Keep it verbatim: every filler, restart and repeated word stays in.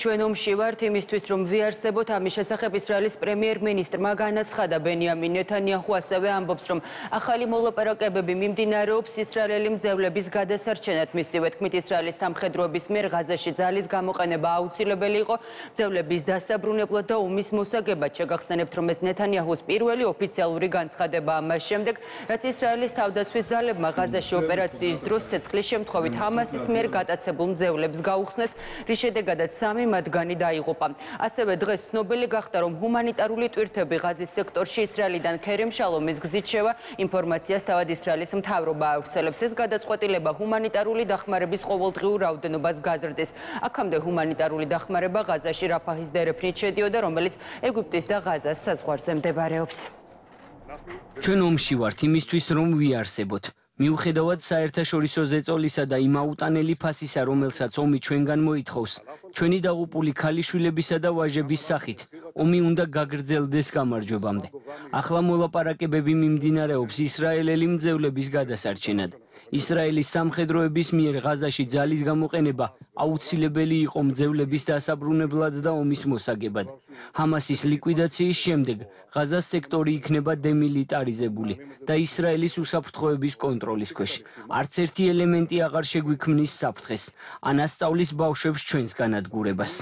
ჩვენ ომში ვართ იმისთვის, რომ ვიარსებოთ. ამის შესახებ ისრაელის პრემიერ-მინისტრმა განაცხადა. ბენიამინ ნეთანიაჰუ ასევე ამბობს, რომ ახალი მოლაპარაკებები მიმდინარეობს ისრაელელი მძევლების გადასარჩენად. მისივე თქმით, ისრაელის სამხედროების მიერ ღაზაში ძალის გამოყენება აუცილებელი იყო მძევლების დასაბრუნებლად და ომის მოსაგებად. შეგახსენებთ, რომ ეს ნეთანიაჰუს პირველი ოფიციალური განცხადებაა მას შემდეგ, რაც ისრაელის თავდაცვის ძალებმა ღაზაში ოპერაციის დროს ცეცხლის შემთხვევით ჰამასის მიერ გატაცებულ მძევლებს გაუხსნეს, რის შედეგადაც სამი მათგანი დაიღუპა. ასევე დღეს ცნობილი გახდა, რომ ჰუმანიტარული ტვირთები ღაზის სექტორში ისრაელიდან ქერემ შალომის გზით შევა. ინფორმაციას თავად ისრაელის მთავრობა ავრცელებს. ეს გადაწყვეტილება ჰუმანიტარული დახმარების ყოველდღიურ რაოდენობას გაზრდის. აქამდე ჰუმანიტარული დახმარება ღაზაში რაფაჰის დერეფნით შედიოდა, რომელიც ეგვიპტის და ღაზას საზღვარზე მდებარეობს. ჩვენ ომში ვართ იმისთვის, რომ ვიარსებოთ. მიუხედავად საერთაშორისო ზეწოლისა და იმ აუტანელი ფასისა, რომელსაც ომი ჩვენგან მოითხოვს, ჩვენი დაღუპული ქალიშვილებისა და ვაჟების სახით, ომი უნდა გაგრძელდეს გამარჯვებამდე. ახლა მოლაპარაკებები მიმდინარეობს ისრაელელი მძევლების გადასარჩენად. ისრაელის სამხედროების მიერ ღაზაში ძალის გამოყენება აუცილებელი იყო მძევლების დასაბრუნებლად და ომის მოსაგებად. ჰამასის ლიკვიდაციის შემდეგ ღაზას სექტორი იქნება დემილიტარიზებული და ისრაელის უსაფრთხოების კონტროლის ქვეშ. არც ერთი ელემენტი აღარ შეგვიქმნის საფრთხეს, ან ასწავლის ბავშვებს ჩვენს განადგურებას.